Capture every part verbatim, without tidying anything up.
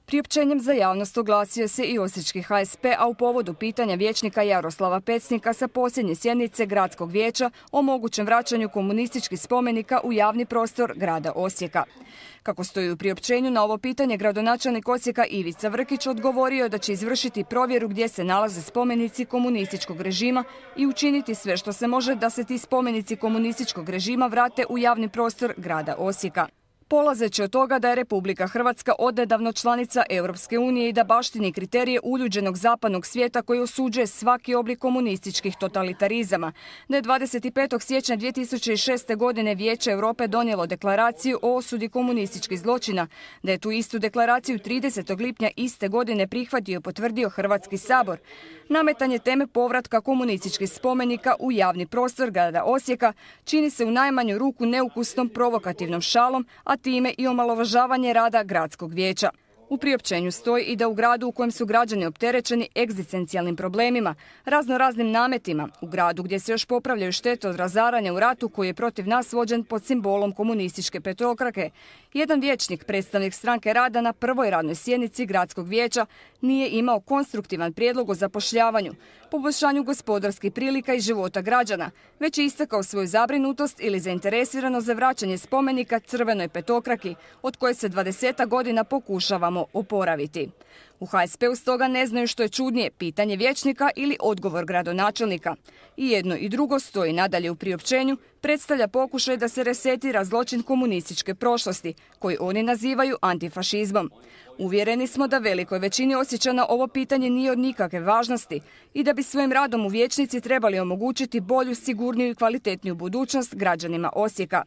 Priopćenjem za javnost oglasio se i osječki H S P, a u povodu pitanja vijećnika Jaroslava Pecnika sa posljednje sjednice Gradskog vijeća o mogućem vraćanju komunističkih spomenika u javni prostor grada Osijeka. Kako stoji u priopćenju, na ovo pitanje gradonačelnik Osijeka Ivica Vrkić odgovorio je da će izvršiti provjeru gdje se nalaze spomenici komunističkog režima i učiniti sve što se može da se ti spomenici komunističkog režima vrate u javni prostor grada Osijeka. Polazeći od toga da je Republika Hrvatska odnedavno članica Europske unije i da baštini kriterije uljuđenog zapadnog svijeta koji osuđuje svaki oblik komunističkih totalitarizama, da je dvadeset petog siječnja dvije tisuće šeste. godine Vijeće Europe donijelo deklaraciju o osudi komunističkih zločina, da je tu istu deklaraciju tridesetog lipnja iste godine prihvatio i potvrdio Hrvatski sabor. Nametanje teme povratka komunističkih spomenika u javni prostor grada Osijeka čini se u najmanju ruku neukusnom provokativnom šalom, a time i omalovažavanje rada gradskog vijeća. U priopćenju stoji i da u gradu u kojem su građani opterećeni egzistencijalnim problemima, raznoraznim nametima, u gradu gdje se još popravljaju štete od razaranja u ratu koji je protiv nas vođen pod simbolom komunističke petokrake, jedan vijećnik, predstavnik Stranke rada na prvoj radnoj sjednici gradskog vijeća, nije imao konstruktivan prijedlog o zapošljavanju, poboljšanju gospodarskih prilika i života građana, već je istakao svoju zabrinutost ili zainteresiranost za vraćanje spomenika crvenoj petokraki, od koje se dvadesetak godina pokušavamo oporaviti. U H S P-u stoga ne znaju što je čudnije, pitanje vijećnika ili odgovor gradonačelnika. I jedno i drugo stoji nadalje u priopćenju, predstavlja pokušaj da se resetira zločin komunističke prošlosti, koji oni nazivaju antifašizmom. Uvjereni smo da velikoj većini Osječana ovo pitanje nije od nikakve važnosti i da bi svojim radom u vijećnici trebali omogućiti bolju, sigurniju i kvalitetniju budućnost građanima Osijeka.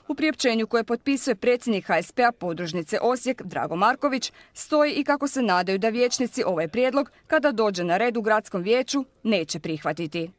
U priopćenju koje potpisuje predsjednik H S P-a podružnice Osijek Drago Marković stoji i kako se nadaju da vijećnici ovaj prijedlog, kada dođe na red u gradskom vijeću, neće prihvatiti.